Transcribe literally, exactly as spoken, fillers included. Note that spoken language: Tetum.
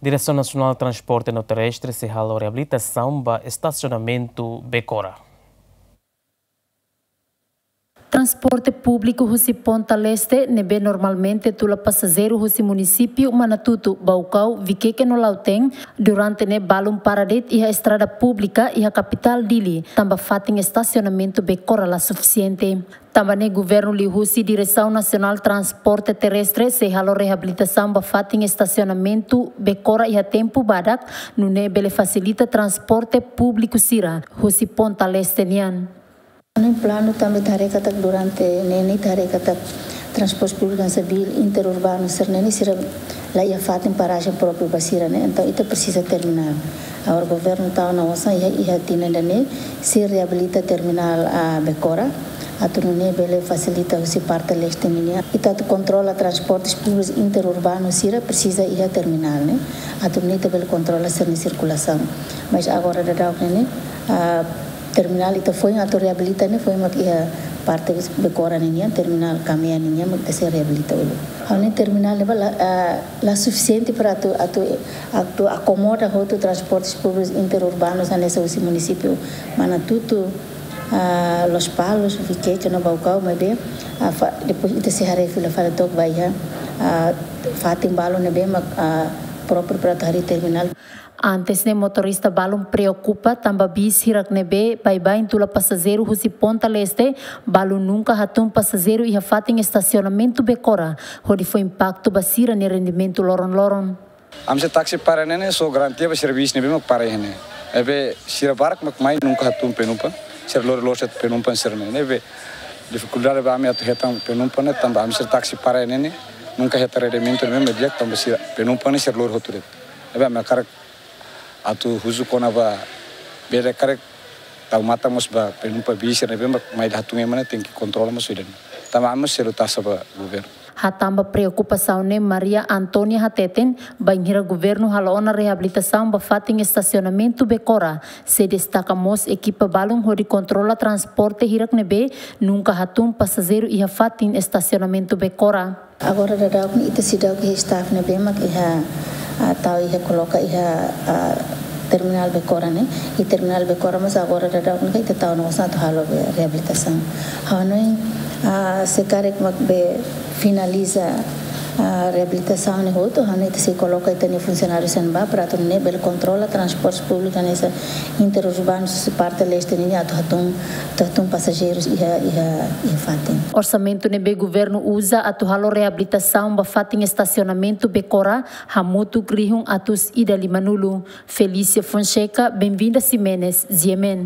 Diresaun Nasionál Transporte no Terrestre sei halo reabilitasaun ba estasionamentu Becora. Transporte públiku husi Ponta Leste ne'ebé normalmente tula pasajeiru husi munisípiu Manatutu, Baucau, Viqueque no Lautém, durante ne'e balun para de'it iha estrada públika iha kapitál Dili, tanba fatin estasionamentu Becora la sufisiente. Tanba ne'e governu liuhusi Diresaun Nasionál Transporte Terrestre sei halo reabilitasaun ba fatin estasionamentu Becora iha tempu badak, nune'e bele fasilita transporte públiku sira husi Ponta Leste nian. Ami planu tanba ita haree katak durante ne'e ne'e ita haree katak transporte públiku hanesan bil interurbanu sira-ne'e ne'e sira la iha fatin parajen própriu ba sira ne'e, entaun ita presiza terminál. Agora governu tau ona osan iha, iha tinan ida-ne'e sei reabilita terminál, ah, Becora, atu nune'e bele fasilita husi parte leste ninian. Ita atu kontrola transportes públikus interurbanu sira presiza iha terminál ne'e, atu nune'e ita bele kontrola sira-nia sirkulasaun. Mas agora daudaun ne'e ne'e, ah, terminál ita foin atu reabilita ne'e foin mak iha parte Becora ninian, terminál Kamea ninian mak ita sei reabilita uluk. Ha'u hanoin terminál ne'ebá la, ah, la sufisiente para atu, atu, atu akomoda hotu transportes públikus interurbanus hanesan husi munisípiu Manatutu, ah, Lospalos, Viqueque no Baucau, maibé, ah, fa-, depois ita sei haree fila fali took ba iha, ah, fatin balun ne'ebé mak, ah, própriu para atu harii terminál. Antes ne'e motorista balun preokupa tanba bis hirak ne'ebé baibain tula pasajeiru husi Ponta Leste, balun nunka hatún pasajeiru iha fatin estasionamentu Becora, hodi fó impaktu ba sira-nia rendimentu loron-loron. Ami sira taksi para ne'e ne'e só garantia ba sira bis ne'ebé mak para iha ne'e. Maibé sira barak mak mai nunka hatún penumpang, sira lori loos de'it penumpang sira-ne'e. Ne'ebé difikuldade ba ami atu hetan penumpang ne'e tanba ami sira taksi para ne'e ne'e nunka hetan rendimentu ne'ebé mak di'ak tanba sira penumpang ne'e sira lori hotu de'it. Ne'ebé ami hakarak atu husu kona-ba bele karik tau matan mós ba penumpang bis ne'ebé mak mai hatún ema ne'e tenke kontrola mós ida-ne'e. Tanba ami mós selu taxa ba governu. Hatán ba preokupasaun ne'e Maria Antónia hateten, bainhira governu halo ona reabilitasaun ba fatin estasionamentu Becora, sei destaka mós ekipa balun hodi kontrola transporte hirak ne'ebé nunka hatún pasajeiru iha fatin estasionamentu Becora. Agora daudaun ne'e ita seidauk iha staff ne'ebé mak iha, ah, tau iha koloka iha, ah, terminál Becora ne'e. I terminál Becora mós agora daudaun ne'e ita tau ona osan atu halo be reabilitasaun. Ha'u hanoin, ah, se karik mak be finaliza, ah, reabilitasaun ne'e hotu, ha'u hanoin ita sei koloka ita-nia funsionáriu sira ne'ebá para atu nune'e bele kontrola transporte públiku hanesan interurbanu husi parte leste nian atu hatún, atu hatún pasajeirus iha, iha, iha fatin. Orsamentu ne'ebé governu uza atu halo reabilitasaun ba fatin estasionamentu Becora hamutuk rihun atus ida limanulu. Felícia Fonseca, Benvinda Ximenes, G M N.